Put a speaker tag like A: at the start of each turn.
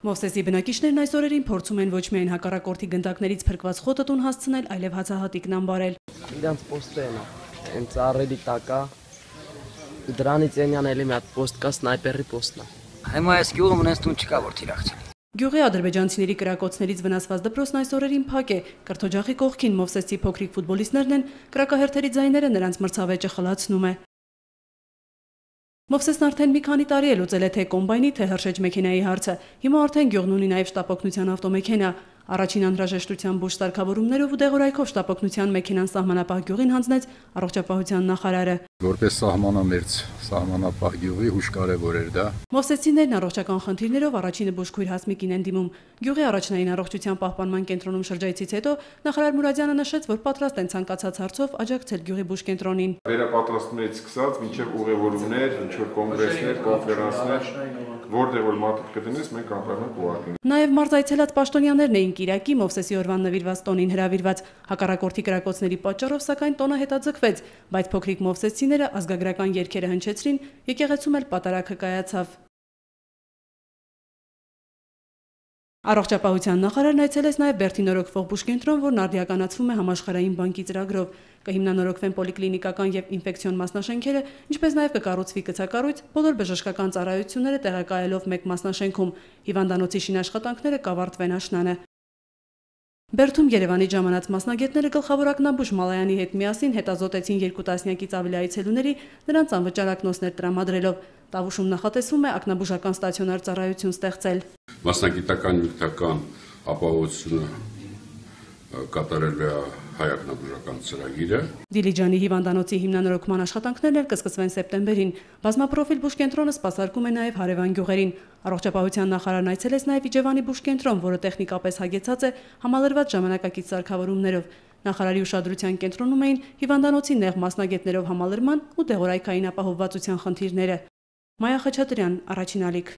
A: Մովսեսի բնակիչներն այս օրերին փորձում են ոչ միայն հակառակորդի գնդակներից փրկված խոտը տուն հասցնել, այլև հացահատիկն ամբարել։
B: Իրանց պոստերն են ծառերի տակա, դրանից ենյան էլի մի հատ պոստ կա, սնայպերի պոստն է։
C: Հիմա այս գյուղը մնաց տուն չկա որ թիրախցի։
A: Գյուղի ադրբեջանցիների կրակոցներից վնասված դպրոցն այս օրերին փակ է։ Կրթօջախի կողքին Մովսեսի փոքրիկ ֆուտբոլիստներն են, կրակահերթերի ձայները նրանց մրցավեճը խլացնում է։ Մովսեսն արդեն մի քանի տարի է լուծել է թե կոմբայնի, թե հրշեջ մեքենայի հարցը։ Հիմա արդեն գյուղն ունի նաև շտապօգնության ավտոմեքենա։ Առաջին անհրաժեշտության բուժ սարքավորումներով ու դեղորայքով շտապօգնության մեքենան սահմանապահ գյուղին հանձնեց առողջապահության նախարարը։
D: Որպես սահմանամերձ սահմանապահ գյուղի հուշ կարևոր էր դա։
A: Մովսեսցիներն առողջական խնդիրներով առաջինը բուժքույր Հասմիկին են դիմում։ Գյուղի առաջնային առողջության պահպանման կենտրոնում շրջայցից հետո նախարար Մուրադյանը նշեց, որ պատրաստ են ցանկացած հարցով աջակցել գյուղի բուժկենտրոնին։
E: Վերապատրաստումներից սկսած մինչև ուղևորումներ, ինչ-որ կոնգրեսներ, կոնֆերանսներ, որտեղ որ մարդիկ կդնես, մենք անպայման կուղարկենք։
A: Նաև մարդ այցելած պաշտոնյաներն էին Կիրակի Մովսեսի օրվան նվիրված տոնին հրավիրված։ Հակառակորդի կրակոցների պատճառով սակայն տոնը հետաձգվեց, բայց փոքրիկ մովսեսցիները ազգագրական երգերը հնչեցրին, եկեղեցում էլ պատարագը կայացավ։ Առողջապահության նախարարն այցելեց նաև Բերդինորոգվող բուժկենտրոն, որն արդիականացվում է համաշխարհային բանկի ծրագրով։ Կհիմնանորոգվեն պոլիկլինիկական եւ ինֆեկցիոն մասնաշենքերը, ինչպես նաև կկառուցվի գցակառույց, բոլոր բժշկական ծառայությունները տեղակայելով մեկ մասնաշենքում։ Հիվանդանոցի շինաշխատանքները կավարտվեն աշնանը։ Բերդում Երևանի ժամանած մասնագետները գլխավոր ակնաբուժ Մալայանի հետ միասին հետազոտեցին 2 տասնյակից ավելի այցելուների նրանց անվճար ակնոցներ տրամադրելով։ Տավուշում նախատեսվում է ակնաբուժական ստացիոնար ծառայություն ստեղծել։
F: Մասնագիտական նյութական ապահովությունը կատարել է հայ ակնաբուժական ծրագիրը։
A: Դիլիջանի հիվանդանոցի հիմնանորոգման աշխատանքներն էլ կսկսվեն սեպտեմբերին։ Բազմապրոֆիլ բուժկենտրոնը սպասարկում է նաև հարևան գյուղերին։ Առողջապահության նախարարն այցելեց նաև Իջևանի բուժկենտրոն, որը տեխնիկապես հագեցած է համալրված ժամանակակից սարքավորումներով։ Նախարարի ուշադրության կենտրոնում էին հիվանդանոցի նեղ մասնագետներով համալրման ու դեղորայքային ապահովվածության խնդիրները։ Մայա Խաչատրյան, Առաջին ալիք։